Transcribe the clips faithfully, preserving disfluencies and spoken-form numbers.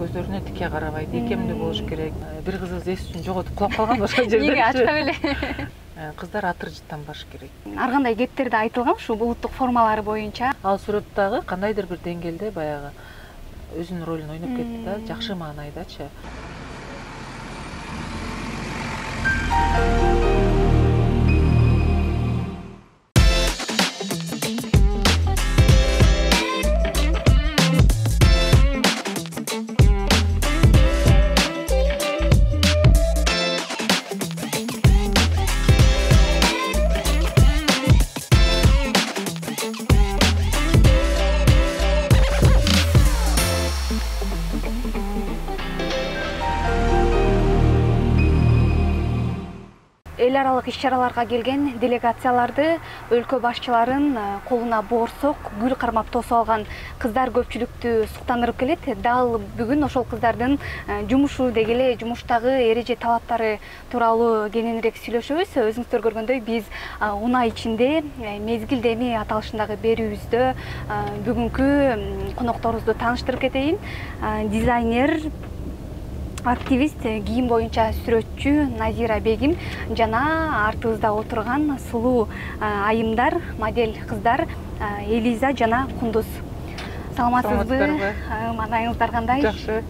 көздөрүнө тике карабайт, ийкемдүү болуш керек. Бир кызыбыз эс үчүн жоготуп кулап калган ошол жерде. Эмнеге ачка беле? Кыздар атыр жыттанбаш керек. Ар кандай кептерде айтылган ушул улуттук формалары боюнча. Ал сүрөттөгү кандайдыр бир деңгээлде баягы өзүнүн ролун ойноп кетти да, жакшы маанайдачы. Эл аралык иш-чараларга келген делегацияларды өлкө башчыларын колуна боорсок, гүл кармап тосуп алган кыздар көпчүлүктү суктандырып келет. Дал бүгүн ошол кыздардын жумушу деги эле жумуштагы эреже талаптары тууралуу кененирээк сүйлөшөбүз. Өзүңүздөр көргөндөй биз унаа ичинде мезгил деми аталышындагы берүүбүздө бүгүнкү конокторубузду тааныштырып кетейин. Дизайнер, активист, кийим боюнча сүрөтчү Назира Бегим жана артыбызда отурган сулуу айымдар, модель кыздар Элиза жана Кундуз. Саламатсызбы? Маанайыңыздар кандай? Жакшы.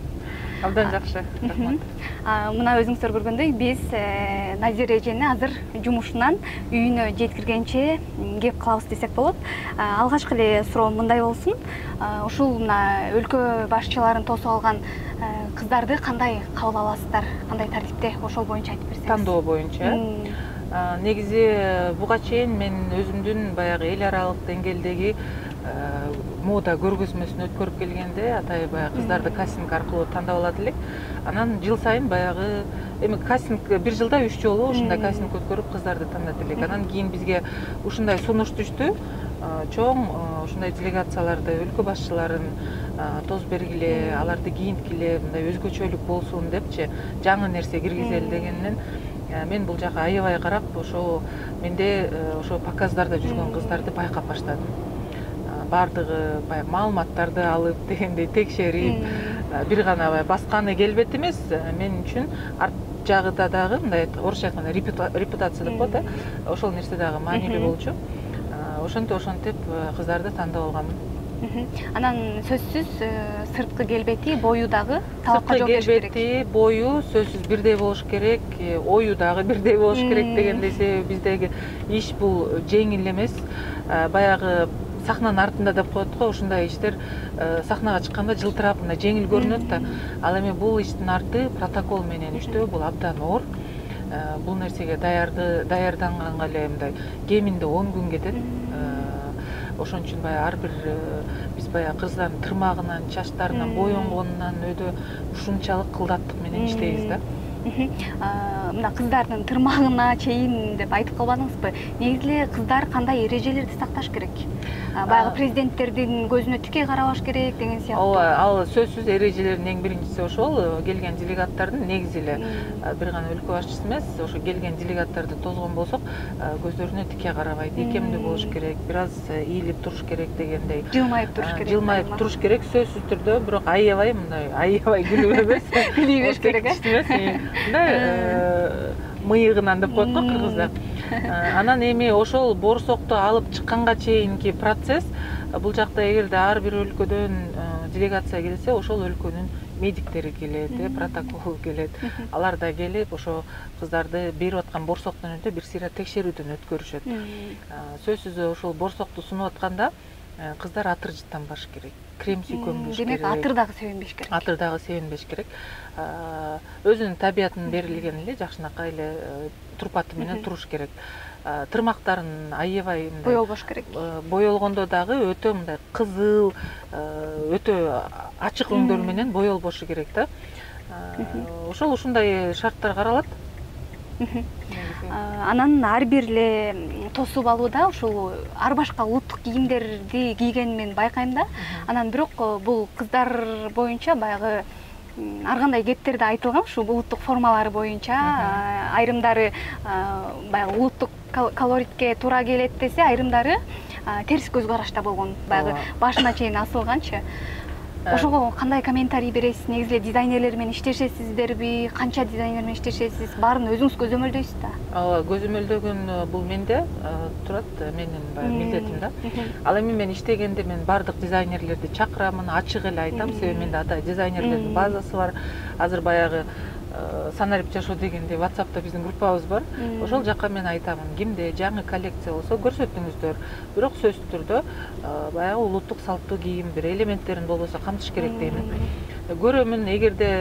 Абдан жакшы. Рахмат. Мына өзүңүздөр көргөндөй биз Назира эжени азыр жумушунан үйүнө жеткиргенче кеп калабыз десек болот. Алгачкы эле суроо мындай болсун. Ушул мына өлкө башчыларын тосуп алган кыздарды кандай кабыл аласыздар? Кандай тартипте? Ошол боюнча айтып берсеңиз. Тандоо боюнча. Негизи буга чейин мен өзүмдүн баягы эл аралык деңгээлдеги мода көргөзмөсүн өткөрүп келгенде атай баягы кыздарды кастинг аркылуу тандап алат элек. Анан жыл сайын баягы эми кастинг бир жылда үч жолу ушундай кастинг өткөрүп кыздарды тандат элек. Анан кийин бизге ушундай сунуш түштү. Чоң ушундай делегацияларды, өлкө башчыларын тосуп бергиле, аларды кийинткиле, мындай өзгөчөлүк болсун депчи, жаңы нерсе киргизели дегенден мен бул жака аябай карап, ошо менде ошо показдарда жүргөн кыздарды байкап баштадым. Бардыгы баягы маалыматтарды алып дегендей текшерип, бир гана баягы басканы келбет эмес, мен үчүн арт жагыда дагы мындай орусча айтканда репутация деп коет, ошол нерсе дагы маанилүү болчу. Ошентип ошентип кыздарды тандап алганмын. Анан сөзсүз сырткы келбети, бою дагы талапка жооп бериш керек. Сырткы келбети, бою сөзсүз бирдей болуш керек, ою дагы бирдей болуш керек дегендей, себеби биздеги иш бул жеңил эмес. Баягы сахнанын артында деп коет го, ушундай иштер сахнага чыкканда жылтырап, мындай жеңил көрүнөт да. Ал эми бул иштин арты протокол менен иштөө, бул абдан оор. Бул нерсеге даярданганга эле мындай кеминде он күн кетет. Ошон үчүн баягы ар бир биз баягы кыздардын тырмагынан, чачтарынан, боенгонунан өйдө ушунчалык кылдаттык менен иштейбиз да. Мына кыздардын тырмагына чейин деп айтып калбадыңызбы? Негизи эле кыздар кандай эрежелерди сакташ керек? Баягы президенттердин көзүнө тике карабаш керек деген сыяктуу. Ооба, ал сөзсүз эрежелердин эң биринчиси ошол. Келген делегаттардын негизи эле бир гана өлкө башчысы эмес, ошо келген делегаттарды тозгон болсок, көздөрүнө тике карабайт, ийкемдүү болуш керек, бир аз ийилип туруш керек дегендей. Жылмайып туруш керек. Жылмайып туруш керек, сөзсүз түрдө, бирок аябай мындай, аябай күлүп эмес. Күлүп керек, э? Мындай мыйыгынан деп коет го кыргызда. Анан эми ошол борсокту алып чыкканга чейинки процесс, бул жакта эгерде ар бир өлкөдөн делегация келсе, ошол өлкөнүн медиктери келет, протокол келет. Алар да келип, ошо кыздарды берип аткан борсоктон өтө бир сыйра текшерүүдөн өткөрүшөт. Сөзсүз ошол борсокту сунуп атканда кыздар атыр жыттанбаш керек. Крем сүйкөнбөш керек. Демек, атыр дагы себинбеш керек. Атыр дагы себинбеш керек. Өзүнүн табиятынын берилген эле жакшынакай эле турпаты менен туруш керек. Тырмактарын аябай мындай боелбош керек. Боелгондо дагы өтө мындай кызыл, өтө ачык өңдөр менен боелбошу керек да. Ошол ушундай шарттар каралат. Анан ар бир эле тосуп алууда ушул ар башка улуттук кийимдерди кийгенин мен байкайм да. Анан бирок бул кыздар боюнча баягы ар кандай кептерде айтылган, ушул улуттук формалары боюнча айрымдары баягы улуттук колоритке туура келет десе, айрымдары терс көз карашта болгон, баягы башына чейин асылганчы. ошого кандай комментарий бересиз? Негизи эле дизайнерлер менен иштешесиздерби? Канча дизайнер менен иштешесиз? Баарын өзүңүз көзөмөлдөйсүз да? Ооба, көзөмөлдөгөн бул менде турат, менин баягы милдетим да. Ал эми мен иштегенде мен бардык дизайнерлерди чакырамын, ачык эле айтам, себеби менде ата дизайнерлердин базасы бар. Азыр баягы санарип жашоо дегенде WhatsApp'та биздин группабыз бар. Ошол жакка мен айтамын, кимде жаңы коллекция болсо көрсөтүңүздөр. Бирок сөзсүз түрдө баягы улуттук салттуу кийим бир элементтерин болбосо камтыш керек деймин. Көрөмүн, эгерде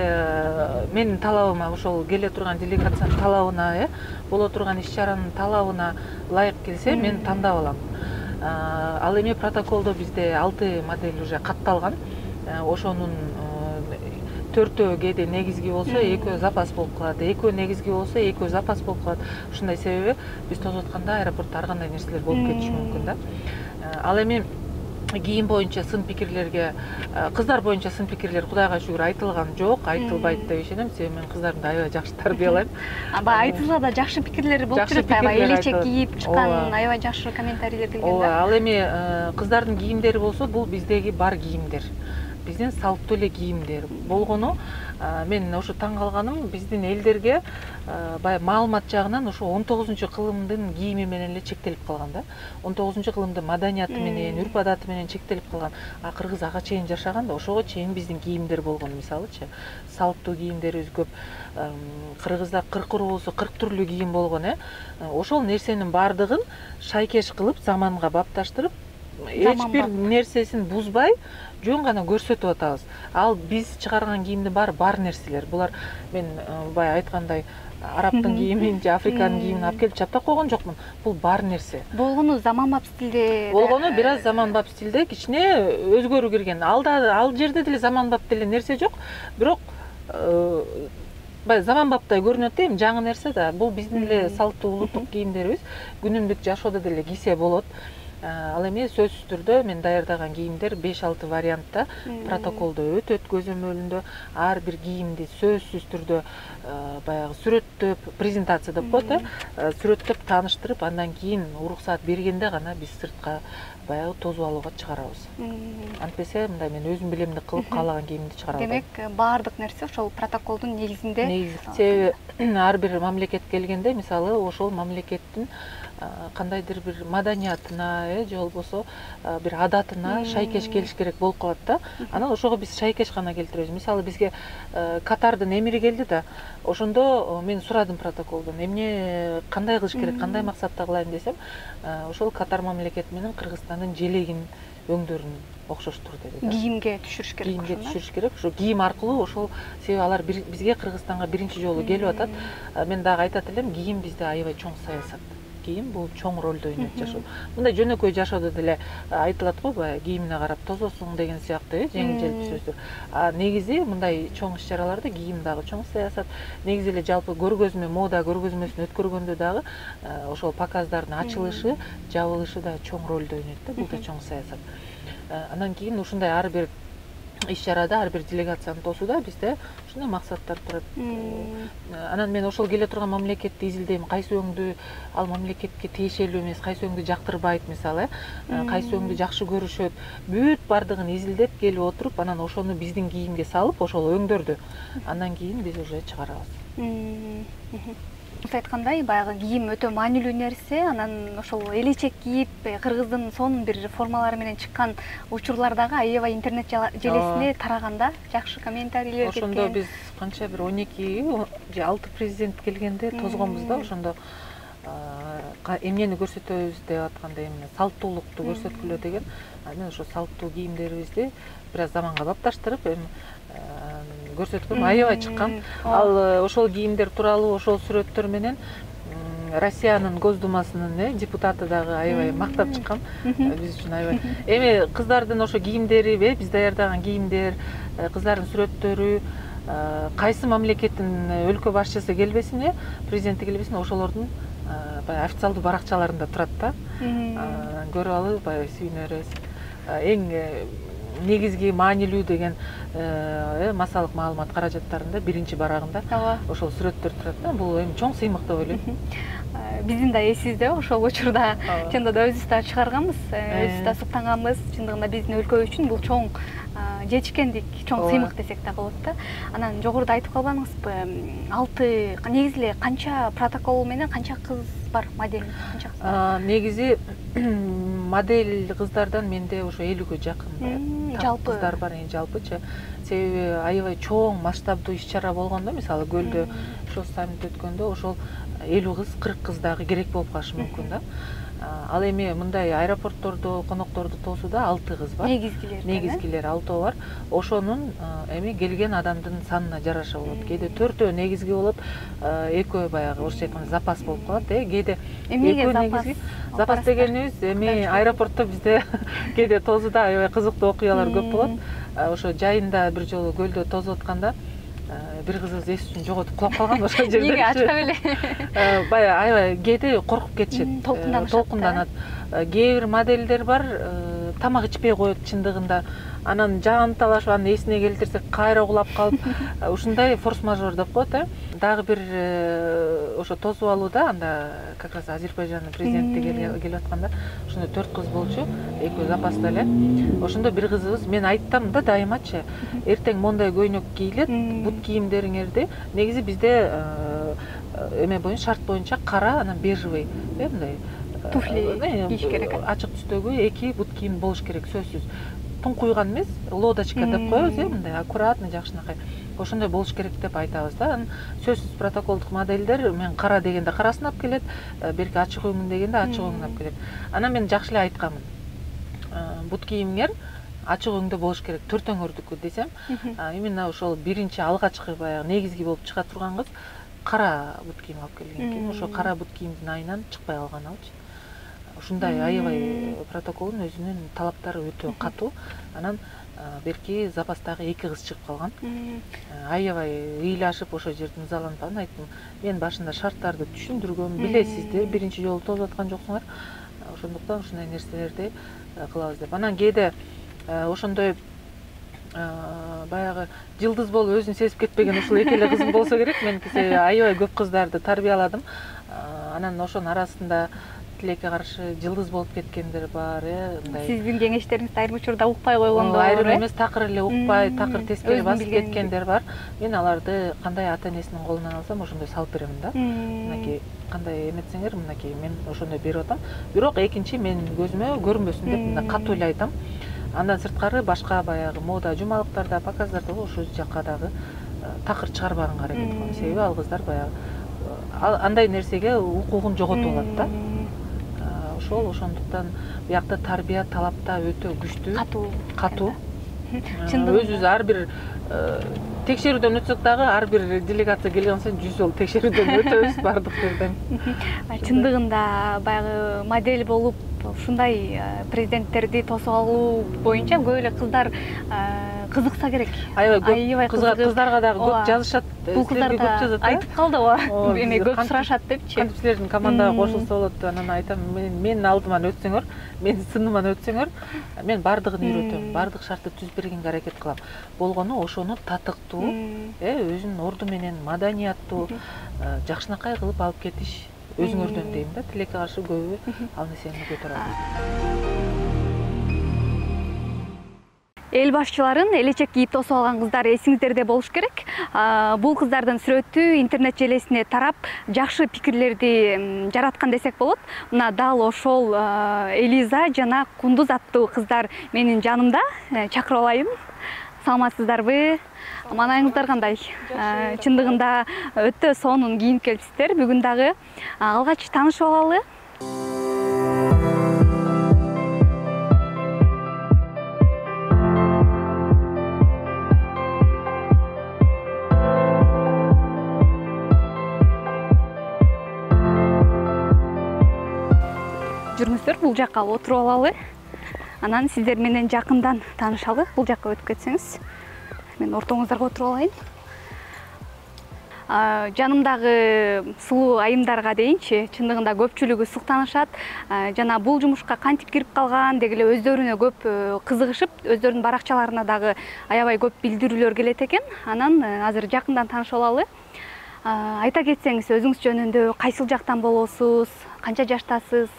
менин талабыма, ошол келе турган делегациянын талабына, э, боло турган иш-чаранын талабына ылайык келсе, мен тандап алам. Ал эми протоколдо бизде алты модель уже катталган. Ошонун төртөө кээде негизги болсо, экөө запас болуп калат. Экөө негизги болсо, экөө запас болуп калат. Ушундай себеби биз тосуп атканда аэропортто ар кандай нерселер болуп кетиши мүмкүн да. Ал эми кийим боюнча сын пикирлерге, кыздар боюнча сын пикирлер Кудайга шүгүр айтылган жок, айтылбайт деп ишенем, себеби мен кыздарымды аябай жакшы тарбиялайм. Баягы айтылса да жакшы пикирлер болуп жүрөт, аябай элечек кийип чыккан, аябай жакшы комментарийлер келген да. Ооба, ал эми кыздардын кийимдери болсо, бул биздеги бар кийимдер. Биздин салттуу эле кийимдер болгону, мен ошо таң калганым, биздин элдерге баягы маалымат жагынан ошо он тогузунчу кылымдын кийими менен эле чектелип калган да. он тогузунчу кылымдын маданияты менен, үрп адаты менен чектелип калган. А кыргыз ага чейин жашаган да, ошого чейин биздин кийимдер болгон, мисалычы, салттуу кийимдерибиз көп. Кыргызда кырк уру болсо кырк түрлүү кийим болгон, э. Ошол нерсенин бардыгын шайкеш кылып, заманга бапташтырып, эч бир нерсесин бузбай, жөн гана көрсөтүп атабыз. Ал биз чыгарган кийимдин баары бар нерселер. Булар мен баягы айткандай арабтын кийимин же Африканын кийимин алып келип чаптап койгон жокмун. Бул бар нерсе. Болгону заманбап стилде. Болгону бир аз заманбап стилде, кичине өзгөрүү кирген. Алда ал жерде деле заманбап деле нерсе жок, бирок баягы заманбаптай көрүнөт дейм, жаңы нерсе да. Бул биздин эле салттуу улуттук кийимдерибиз. Күнүмдүк жашоодо деле кийсе болот. Ал эми сөзсүз түрдө мен даярдаган кийимдер беш алты вариантта протоколдо өтөт, көзөмөлүндө. Ар бир кийимди сөзсүз түрдө баягы сүрөттөп, презентация деп коет, э, сүрөттөп тааныштырып, андан кийин уруксаат бергенде гана биз сыртка баягы тосуп алууга чыгарабыз. Антпесе мындай мен өзүм билемдик кылып каалаган кийимди чыгара албайм. Демек, баардык нерсе ошол протоколдун негизинде. Негизи. Себеби ар бир мамлекетке келгенде, мисалы, ошол мамлекеттин кандайдыр бир маданиятына, же болбосо бир адатына шайкеш келиш керек болуп калат да. Анан ошого биз шайкеш гана келтиребиз. Мисалы, бизге Катардын эмири келди да, ошондо мен сурадым протоколдон, эмне кандай кылыш керек, кандай максатта кылайын десем, ошол Катар мамлекети менен Кыргызстандын желегин өңдөрүн окшоштур деди да. Кийимге түшүрүш керек. Кийимге түшүрүш керек. Ошо кийим аркылуу ошол, себеби алар бизге Кыргызстанга биринчи жолу келип атат. Мен дагы айтат элем, кийим бизде аябай чоң саясат. Кийим бул чоң ролду ойнойт жашоо. Мындай жөнөкөй жашоодо деле айтылат го, баягы кийимине карап тососуң деген сыяктуу, э, жеңил желпи сөздөр. А негизи мындай чоң иш-чараларда кийим дагы чоң саясат. Негизи эле жалпы көргөзмө, мода көргөзмөсүн өткөргөндө дагы ошол показдардын ачылышы, жабылышы да чоң ролду ойнойт да, бул да чоң саясат. Андан кийин ушундай ар бир иш-чарада, ар бир делегациянын тосууда бизде ушундай максаттар турат. Анан мен ошол келе турган мамлекетти изилдейм, кайсы өңдү ал мамлекетке тиешелүү эмес, кайсы өңдү жактырбайт, мисалы, кайсы өңдү жакшы көрүшөт. Бүт бардыгын изилдеп келип отуруп, анан ошону биздин кийимге салып, ошол өңдөрдү. Андан кийин биз уже чыгарабыз. Сиз айткандай, баягы кийим өтө маанилүү нерсе, анан ошол элечек кийип, кыргыздын сонун бир формалары менен чыккан учурлардагы аябай интернет желесине тараганда жакшы комментарийлер кеткен. Ошондо биз канча бир он эки же алты президент келгенде тозгонбуз да, ошондо эмнени көрсөтөбүз деп атканда, эмне салттуулукту көрсөткүлө деген. Мен ошо салттуу кийимдерибизди бир аз заманга бапташтырып, эми көрсөткөм, аябай чыккан. Ал ошол кийимдер тууралуу ошол сүрөттөр менен Россиянын Госдумасынын депутаты дагы аябай мактап чыккан. Биз үчүн аябай. Эми кыздардын ошо кийимдери, биз даярдаган кийимдер, кыздардын сүрөттөрү, кайсы мамлекеттин өлкө башчысы келбесин, президенти келбесин, ошолордун баягы официалдуу баракчаларында турат да. Көрүп алып, баягы сүйүнөрүбүз. Эң негизги маанилүү деген массалык маалымат каражаттарында биринчи барагында ошол сүрөттөр турат да. Бул эми чоң сыймык деп ойлойм. Биздин да эсибизде, ошол учурда чындыгында өзүбүз да чыгарганбыз, өзүбүз да суктанганбыз. Чындыгында биздин өлкө үчүн бул чоң жетишкендик, чоң сыймык десек да болот да. Анан жогоруда айтып калбадыңызбы, алты негизи эле канча протокол менен канча кыз бар, модель канча кыз бар? Негизи модель кыздардан менде ошо элүүгө жакын жалпы кыздар бар, эми жалпычы. Себеби аябай чоң масштабдуу иш-чара болгондо, мисалы көлдө ошол саммит өткөндө ошол элүү кыз, кырк кыз дагы керек болуп калышы мүмкүн да. Ал эми мындай аэропорттордо конокторду тосууда алты кыз бар. Негизгилер. Негизгилер алтоо бар. Ошонун эми келген адамдын санына жараша болот. Кээде төртөө негизги болот, экөө баягы орусча айтканда запас болуп калат. Э, кээде эмнеге запас? Запас дегенибиз эми аэропортто бизде кээде тосууда аябай кызыктуу окуялар көп болот. Ошо жайында бир жолу көлдө тосуп атканда бир кызыбыз эс үчүн жоготуп кулап калган ошол жерде. Эмнеге ачка беле? Баягы аябай кээде коркуп кетишет. Толкунданат. Кээ бир модельдер бар, тамак ичпей коет чындыгында. Анан жан талашып, анын эсине келтирсек кайра кулап калып, ушундай форс-мажор деп коет, э. Дагы бир ошо тосуп алууда, анда как раз Азербайжандын президенти келип атканда, ошондо төрт кыз болчу, экөө запаста эле. Ошондо бир кызыбыз, мен айттым да дайымачы, эртең мондай көйнөк кийилет, бут кийимдериңерди. Негизи бизде эме боюнча, шарт боюнча кара, анан бежевый, э, мындай туфли кийиш керек. Ачык түстөгү эки бут кийим болуш керек, сөзсүз. Туңкуйган эмес, лодочка деп коебуз, э, мындай аккуратный, жакшынакай. Ошондой болуш керек деп айтабыз да. Анан сөзсүз протоколдук модельдер, мен кара дегенде карасын алып келет, берки ачык өңүн дегенде ачык өңүн алып келет. Анан мен жакшы эле айтканмын. Бут кийимиңер ачык өңдө болуш керек, төртөөңөрдүкү десем, именно ошол биринчи алгачкы баягы негизги болуп чыга турган кыз кара бут кийим алып келген экен. Ошо кара бут кийимдин айынан чыкпай калган алчы. Ушундай аябай протоколдун өзүнүн талаптары өтө катуу. Анан берки запастагы эки кыз чыгып калган. Аябай ыйлашып ошол жерден ызаланып анан айттым, мен башында шарттарды түшүндүргөм, билесиздер, биринчи жолу тосуп аткан жоксуңар. Ошондуктан ушундай нерселерди кылабыз деп. Анан кээде ошондой баягы жылдыз болуп өзүн сезип кетпеген ушул эки эле кызым болсо керек. Мен аябай көп кыздарды тарбияладым. Анан ошонун арасында тилекке каршы жылдыз болуп кеткендер бар, э, мындай. Сиздин кеңештериңизди айрым учурда укпай койгондор, айрым эмес, такыр эле укпай, такыр тескери басып кеткендер бар. Мен аларды кандай ата-энесинин колунан алсам, ошондой салып беремин да. Мынакей кандай эметсеңер, мынакей мен ошондой берип атам. Бирок экинчи мен көзүмө көрүнбөсүн деп мындай катуу эле айтам. Андан сырткары башка баягы мода жумалыктарда, показдарда ошол жакка дагы такыр чыгарбаганга аракет кылам. Себеби ал кыздар баягы андай нерсеге укугун жоготуп алат да. Ошол ошондуктан биякта тарбия талапта өтө күчтүү, катуу, катуу. Өзүбүз ар бир текшерүүдөн өтсөк дагы ар бир делегация келген сайын жүз жолу текшерүүдөн өтөбүз бардык жерден. Чындыгында баягы модель болуп ушундай президенттерди тосуп алуу боюнча көп эле кыздар кызыкса керек. Аябай көп кыздарга дагы көп жазышат. Бул кыздар да айтып калдыбы, эме көп сурашат депчи. Кантип силердин командага кошулса болот, анан айтам, менин алдыман өтсөңөр, менин сыныман өтсөңөр, мен бардыгын үйрөтөм, бардык шартты түзүп бергенге аракет кылам. Болгону ошону татыктуу, э, өзүнүн орду менен маданияттуу, жакшынакай кылып алып кетиш өзүңөрдөн дейм да. Тилекке каршы көбү ал нерсени көтөрө албайт. Эл башчыларын элечек кийип тосуп алган кыздар эсиңиздерде болуш керек. Бул кыздардын сүрөтү интернет желесине тарап, жакшы пикирлерди жараткан десек болот. Мына дал ошол Элиза жана Кундуз аттуу кыздар менин жанымда. Чакырып алайын. Саламатсыздарбы? Аманайыңыздар кандай? Чындыгында өтө сонун кийинип келипсиздер. Бүгүн дагы алгач таанышып алалы. Жүрүңүздөр, бул жакка отуруп алалы. Анан сиздер менен жакындан таанышалы. Бул жакка өтүп кетсеңиз. Мен ортоңуздарга отуруп алайын. Жанымдагы сулуу айымдарга дейинчи, чындыгында көпчүлүгү суктанышат. Жана бул жумушка кантип кирип калган деги эле өздөрүнө көп кызыгышып, өздөрүнүн баракчаларына дагы аябай көп билдирүүлөр келет экен. Анан азыр жакындан таанышып алалы. Айта кетсеңиз, өзүңүз жөнүндө кайсыл жактан болосуз, канча жаштасыз?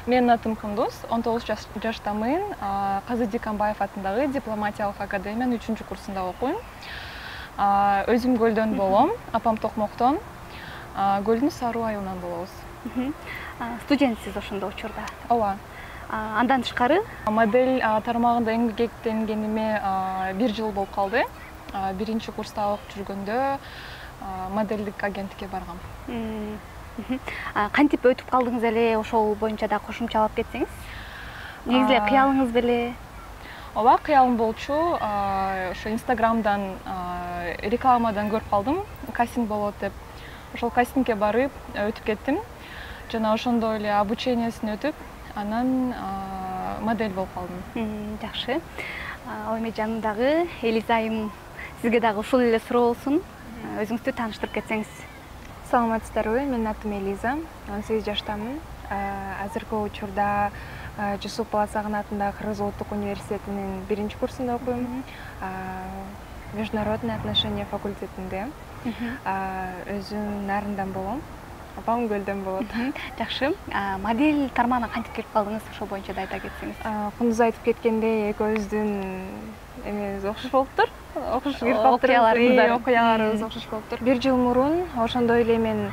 Менин атым Кундуз, он тогуз жаштамын. Казы Дикамбаев атындагы дипломатиялык академиянын үчүнчү курсунда окуйм. Өзүм Көлдөн болом, апам Токмоктон. Көлдүн Саруу айылынан болобуз. Студентсиз ошондо учурда? Ооба. Андан тышкары модель тармагында эмгектенгениме бир жыл болуп калды. Биринчи курста окуп жүргөндө моделдик агенттикке баргам. Кантип өтүп калдыңыз эле, ошол боюнча да кошумчалап кетсеңиз? Негизи эле кыялыңыз беле? Ооба, кыялым болчу. Ошо Инстаграмдан рекламадан көрүп калдым, кастинг болот деп. Ошол кастингке барып өтүп кеттим. Жана ошондой эле обучениясын өтүп, анан модель болуп калдым. Жакшы. Ал эми жанымдагы Элиза айым, сизге дагы ушул эле суроо болсун. Өзүңүздү тааныштырып кетсеңиз. Саламатсыздарбы, менин атым Элиза, он сегиз жаштамын. Азыркы учурда Жусуп Баласагын атындагы Кыргыз улуттук университетинин биринчи курсунда окуйм. Международный отношения факультетинде. Өзүм Нарындан болом. Апам Көлдөн болот. Жакшы. Модель тармагына кантип келип калдыңыз? Ошол боюнча да айта кетсеңиз. Кундуз айтып кеткендей, экөөбүздүн эмебиз окшош болуптур. Окшош кирип калыптыр. Окуяларыбыз окшош болуптур. Бир жыл мурун ошондой эле мен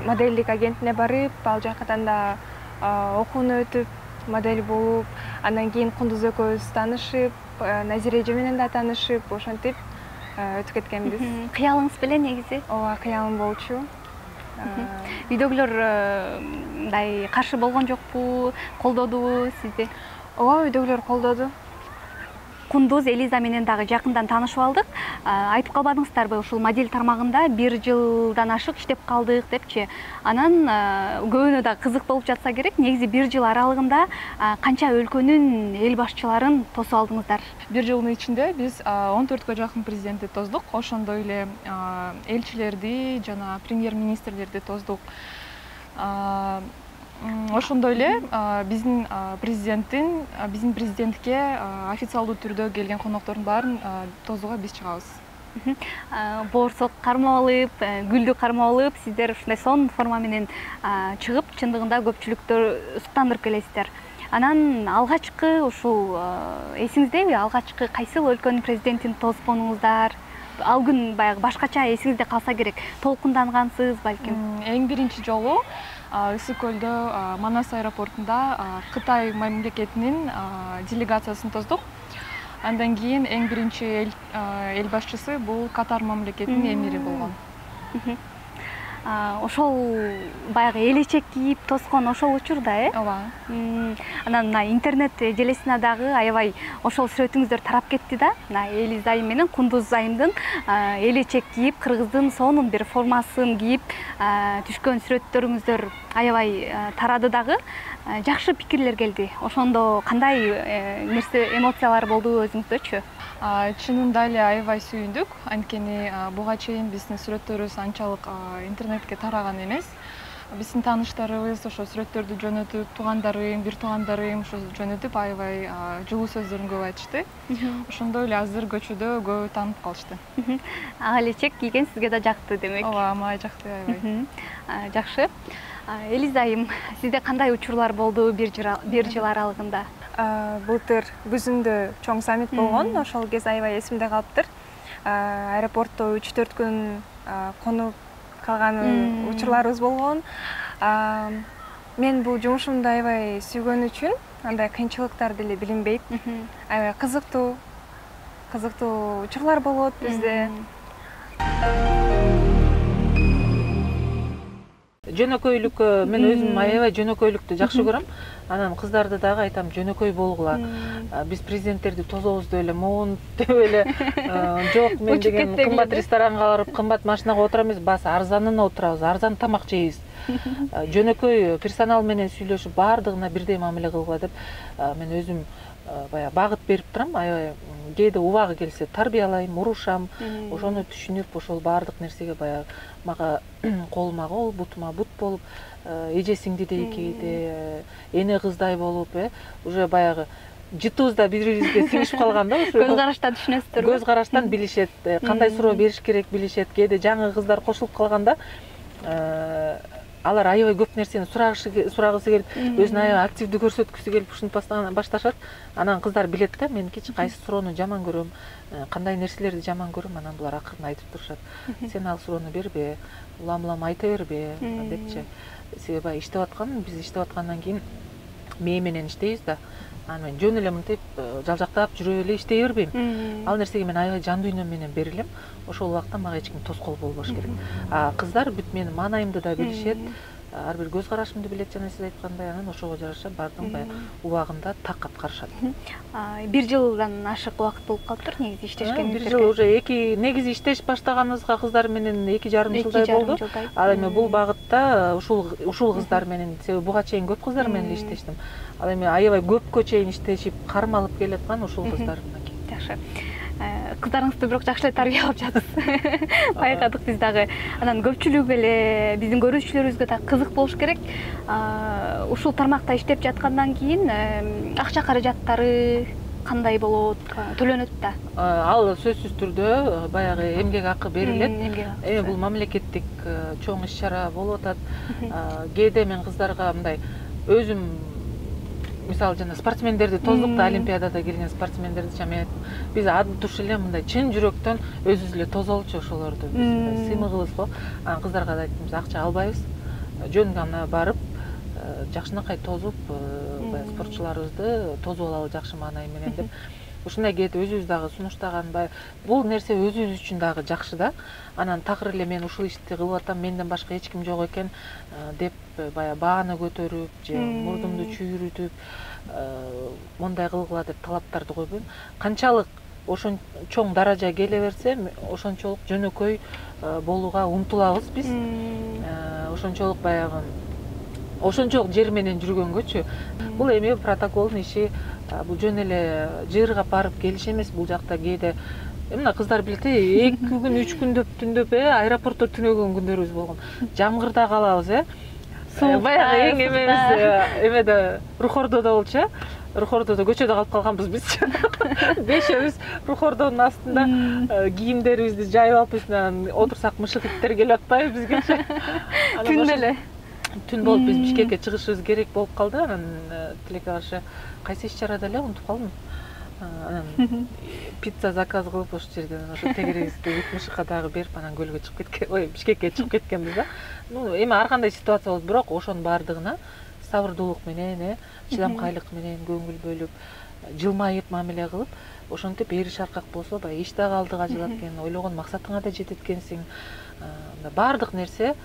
модельдик агентине барып, ал жактан да окууну өтүп, модель болуп, андан кийин Кундуз экөөбүз таанышып, Назира эже менен да таанышып, ошентип өтүп кеткенбиз. Кыялыңыз беле негизи? Ооба, кыялым болчу. Үйдөгүлөр мындай каршы болгон жокпу, колдодубу сизди? Ооба, үйдөгүлөр колдоду. Кундуз Элиза менен дагы жакындан таанышып алдык. Айтып калбадыңыздарбы, ушул модель тармагында бир жылдан ашык иштеп калдык депчи. Анан көбүнө да кызык болуп жатса керек, негизи бир жыл аралыгында канча өлкөнүн эл башчыларын тосуп алдыңыздар? Бир жылдын ичинде биз он төрткө жакын президентти тоздук, ошондой эле элчилерди жана премьер-министрлерди тоздук. Ошондой эле биздин президенттин биздин президентке официалдуу түрдө келген коноктордун баарын тосууга биз чыгабыз. Боорсок кармап алып, гүлдү кармап алып, сиздер ушундай сонун форма менен чыгып, чындыгында көпчүлүктү суктандырып келесиздер. Анан алгачкы ушул эсиңиздеби, алгачкы кайсыл өлкөнүн президентин тосконуңуздар? Ал күн баягы башкача эсиңизде калса керек, толкундангансыз балким. Эң биринчи жолу Ысык көлдө Манас аэропортунда Кытай мамлекетинин делегациясын тоздук. Андан кийин эң биринчи эл башчысы бул Катар мамлекетинин эмири болгон. Ошол баягы элечек кийип тоскон ошол учурда, э? Ооба. Анан мына интернет желесине дагы аябай ошол сүрөтүңүздөр тарап кетти да. Мына Элиза айым менен Кундуз айымдын элечек кийип, кыргыздын сонун бир формасын кийип түшкөн сүрөттөрүңүздөр аябай тарады дагы. Жакшы пикирлер келди. Ошондо кандай нерсе, эмоциялар болду өзүңүздөчү? Чынында эле аябай сүйүндүк, анткени буга чейин биздин сүрөттөрүбүз анчалык интернетке тараган эмес. Биздин тааныштарыбыз ошо сүрөттөрдү жөнөтүп, туугандарым, бир туугандарым ошо жөнөтүп аябай жылуу сөздөрүн көп айтышты. Ошондой эле азыр көчөдө көбү таанып калышты. Ак элечек кийген сизге да жакты демек. Ооба, мага жакты аябай. Жакшы. Элиза айым, сизде кандай учурлар болду бир жыл аралыгында? Былтыр күзүндө чоң саммит болгон, ошол кез аябай эсимде калыптыр. Аэропортто үч төрт күн конуп калган учурларыбыз болгон. Мен бул жумушумду аябай сүйгөн үчүн андай кыйынчылыктар деле билинбейт. Аябай кызыктуу, кызыктуу учурлар болот бизде. Жөнөкөйлүк, мен өзүм аябай жөнөкөйлүктү жакшы көрөм. Анан кыздарды дагы айтам, жөнөкөй болгула. Биз президенттерди тозобуз деп эле, моун деп эле, жок мен деген кымбат ресторанга барып, кымбат машинага отура эмес, баасы арзанына отурабыз, арзан тамак жейбиз. Жөнөкөй персонал менен сүйлөшүп, баардыгына бирдей мамиле кылгыла деп мен өзүм баягы багыт берип турам. Аябай кээде убагы келсе тарбиялайм, урушам, ошону түшүнүп, ошол баардык нерсеге баягы мага колума кол, бутума бут болуп, эже сиңдидей кээде эне кыздай болуп, э, уже баягы жытыбыз да бири-бирибизге сиңишип калган да, ошо. Көз караштан түшүнөсүздөрбү? Көз караштан билишет, кандай суроо бериш керек билишет. Кээде жаңы кыздар кошулуп калганда, алар аябай көп нерсени сурагысы келип, өзүн аябай активдүү көрсөткүсү келип ушинтип башташат. Анан кыздар билет да, мен кечи кайсы суроону жаман көрөм, кандай нерселерди жаман көрөм, анан булар акырын айтып турушат. Сен ал суроону бербе, улам-улам айта бербе депчи. Себеби иштеп аткан, биз иштеп аткандан кийин мээ менен иштейбиз да. Анан мен жөн эле мынтип жалжактап жүрүп эле иштей бербейм. Ал нерсеге мен аябай жан дүйнөм менен берилем. Ошол убакта мага эч ким тоскоол болбош керек. А кыздар бүт менин маанайымды да билишет, ар бир көз карашымды билет жана сиз айткандай, анан ошого жараша баардыгын баягы убагында так аткарышат. Бир жылдан ашык убакыт болуп калыптыр негизи иштешкениңизге. Бир жыл уже эки негизи иштеш баштаганыбызга кыздар менен эки жарым жылдай болду. Ал эми бул багытта ушул ушул кыздар менен, себеби буга чейин көп кыздар менен иштештим. Ал эми аябай көпкө чейин иштешип кармалып келаткан ушул кыздар мынакей. Жакшы. Кыздарыңызды бирок жакшы эле тарбиялап жатасыз. Байкадык биз дагы. Анан көпчүлүк эле биздин көрүүчүлөрүбүзгө да кызык болуш керек. Ушул тармакта иштеп жаткандан кийин акча каражаттары кандай болот, төлөнөт да? Ал сөзсүз түрдө баягы эмгек акы берилет. Эми бул мамлекеттик чоң иш чара болуп атат. Кээде мен кыздарга мындай өзүм мисалы жана спортсмендерди тоздук да, олимпиадада келген спортсмендерди чам мен айттым. Биз ады туш эле мындай чын жүрөктөн өзүбүз эле тозолчу ошолорду. Биз сыймыгыбыз го. Анан кыздарга да айттым, биз акча албайбыз. Жөн гана барып, жакшынакай тозуп, баягы спортчуларыбызды тозуп алалы жакшы маанай менен деп. Ушундай кээде өзүбүз дагы сунуштаган, бул нерсе өзүбүз үчүн дагы жакшы да. Анан такыр эле мен ушул ишти кылып атам, менден башка эч ким жок экен деп баягы бааны көтөрүп же мурдумду чүйрүтүп, мондай кылгыла деп талаптарды койбойм. Канчалык ошон чоң даража келе берсе, ошончолук жөнөкөй болууга умтулабыз биз. Ошончолук баягы ошончолук жер менен жүргөнгөчү. Бул эми протоколдун иши, бул жөн эле жыыргап барып келиш эмес. Бул жакта кээде мына кыздар билет, эки күн, үч күндөп түндөп аэропортто түнөгөн күндөрүбүз болгон. Жамгырда калабыз, э. Баягы эң эмебиз эмеде Рухордодо болчу, э. Рухордодо көчөдө калып калганбыз биз. Бешөөбүз Рухордонун астында кийимдерибизди жайып алып, үстүнөн отурсак мышык иттер келип атпайбы бизге. Түн эле. Түн болуп биз Бишкекке чыгышыбыз керек болуп калды. Анан тилекке каршы кайсы иш чарада эле унутуп калдым. Анан пицца заказ кылып ошол жерден ошо тегерегибизди үч мышыкка дагы берип, анан көлгө чыгып кеткен, ой, Бишкекке чыгып кеткенбиз да. Ну, эми ар кандай ситуация болот, бирок ошонун баардыгына сабырдуулук менен, э, чыдамкайлык менен көңүл бөлүп, жылмайып мамиле кылып, ошентип эри шаркак болсо, баягы иш дагы алдыга жылат экен, ойлогон максатыңа да жетет экенсиң. Баардык нерсе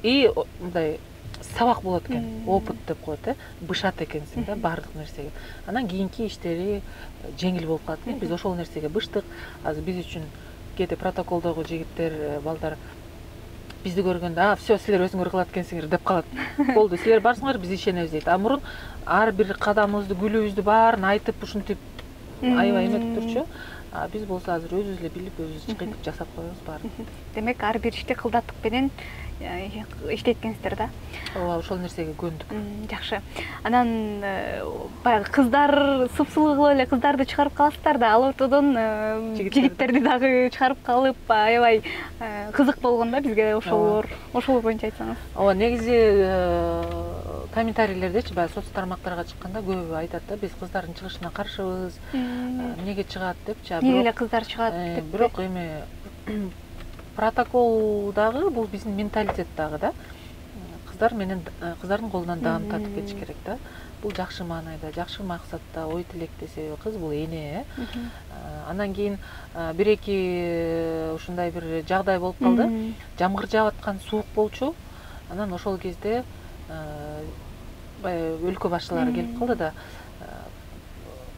и мындай сабак болот экен, опыт деп коет, э, бышат экенсиң да баардык нерсеге. Анан кийинки иштери жеңил болуп калат экен. Биз ошол нерсеге быштык. Азыр биз үчүн кээде протоколдогу жигиттер, балдар бизди көргөндө, а, все, силер өзүңөр кылат экенсиңер деп калат. Болду, силер барсыңар, биз ишенебиз дейт. А мурун ар бир кадамыбызды, күлүбүздү баарын айтып, ушинтип аябай эметип турчу. А биз болсо азыр өзүбүз эле билип, өзүбүз кыйтып жасап коебуз баарын. Демек, ар бир ишти кылдаттык менен иштеткенсиздер да? Ооба, ошол нерсеге көндүк. Жакшы. Анан баягы кыздар супсулуу кылып эле кыздарды чыгарып каласыздар да, ал ортодон жигиттерди дагы чыгарып калып, аябай кызык болгон да бизге ошолор. Ошол боюнча айтсаңыз. Ооба, негизи комментарийлердечи, баягы соц тармактарга чыкканда көбү айтат да, биз кыздардын чыгышына каршыбыз, эмнеге чыгат депчи. Эмне эле кыздар чыгат деп. Бирок эми протокол дагы бул биздин менталитет дагы да. Кыздар менен кыздардын колунан даам тартып кетиш керек да. Бул жакшы маанайда, жакшы максатта, ой тилекте, себеби кыз бул эне, э. Андан кийин бир-эки ушундай бир жагдай болуп калды. Жамгыр жаап аткан, суук болчу. Анан ошол кезде баягы өлкө башчылары келип калды да.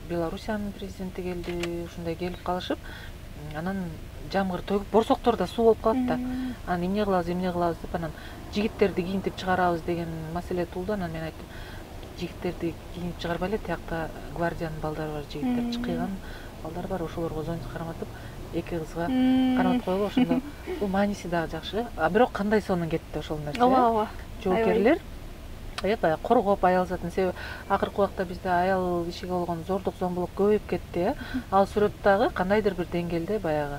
Белоруссиянын президенти келди, ушундай келип калышып, анан жамгыр төгүп, борсоктордо суу болуп калат да. Анан эмне кылабыз, эмне кылабыз деп, анан жигиттерди кийинтип чыгарабыз деген маселе туулду. Анан мен айттым, жигиттерди кийинип чыгарбай эле, тиякта гвардиянын балдары бар, жигиттер чыкыйган балдар бар, ошолорго зонтик карматып, эки кызга карматып коелу. Ошондо бул мааниси дагы жакшы. А бирок кандай сонун кетти ошол нерсе. Ооба, ооба. Жоокерлер баягы коргоп, аял затын, себеби акыркы убакта бизде аял кишиге болгон зордук зомбулук көбөйүп кетти, э. Ал сүрөт дагы кандайдыр бир деңгээлде баягы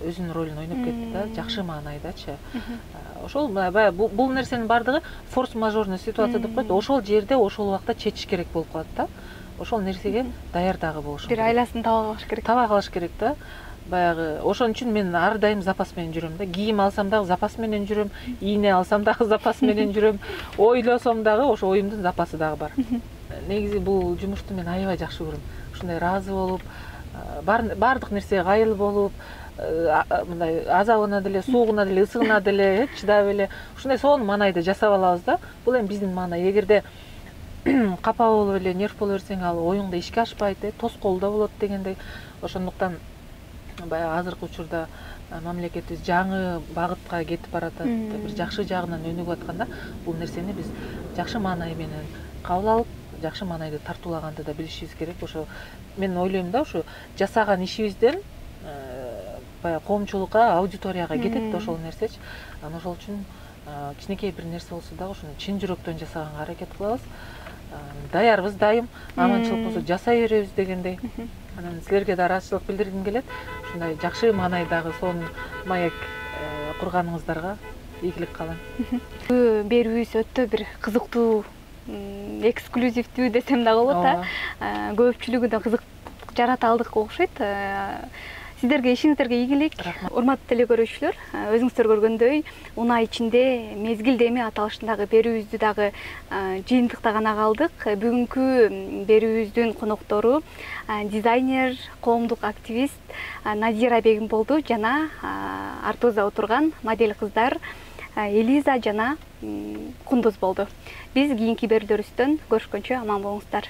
өзүнүн ролун ойноп кетти да, жакшы маанайдачы. Ошол баягы бул нерсенин баардыгы форс-мажорный ситуация деп коет. Ошол жерде ошол убакта чечиш керек болуп калат да. Ошол нерсеге даяр дагы болуш керек. Бир айласын таба калыш керек. Таба калыш керек да. Баягы ошон үчүн мен ар дайым запас менен жүрөм да. Кийим алсам дагы запас менен жүрөм, ийне алсам дагы запас менен жүрөм, ойлосом дагы ошо оюмдун запасы дагы бар. Негизи бул жумушту мен аябай жакшы көрөм. Ушундай ыраазы болуп, баардык нерсеге кайыл болуп, мындай азабына деле, суугуна деле, ысыгына деле чыдап эле ушундай сонун маанайда жасап алабыз да. Бул эми биздин маанай. Эгерде капа болуп эле, нерв боло берсең, ал оюңда ишке ашпайт, тоскоолдо болот дегендей. Ошондуктан баягы азыркы учурда мамлекетибиз жаңы багытка кетип баратат, бир жакшы жагынан өнүгүп атканда, бул нерсени биз жакшы маанай менен кабыл алып, жакшы маанайды тартуулаганды да билишибиз керек. Ошо мен ойлойм да, ушу жасаган ишибизден баягы коомчулукка, аудиторияга кетет да ошол нерсечи. Анан ошол үчүн кичинекей бир нерсе болсо дагы ушуну чын жүрөктөн жасаганга аракет кылабыз. Даярбыз дайым, аманчылык болсо жасай беребиз дегендей. Анан силерге да ыраазычылык билдиргим келет. Ушундай жакшы маанайдагы сонун маек курганыңыздарга ийгилик каалайм. Берүүбүз өтө бир кызыктуу, эксклюзивдүү десем дагы болот да. Көпчүлүгүнө кызык жарата алдык окшойт. Сиздерге ишиңиздерге ийгилик. Урматтуу теле көрүүчүлөр, өзүңүздөр көргөндөй, унаа ичинде мезгил деми аталышындагы берүүбүздү дагы жыйынтыкта гана калдык. Бүгүнкү берүүбүздүн коноктору дизайнер, коомдук активист Надира Бегим болду жана артыбызда отурган модель кыздар Элиза жана Кундуз болду. Биз кийинки берүүлөрүбүздөн көрүшкөнчө аман болуңуздар.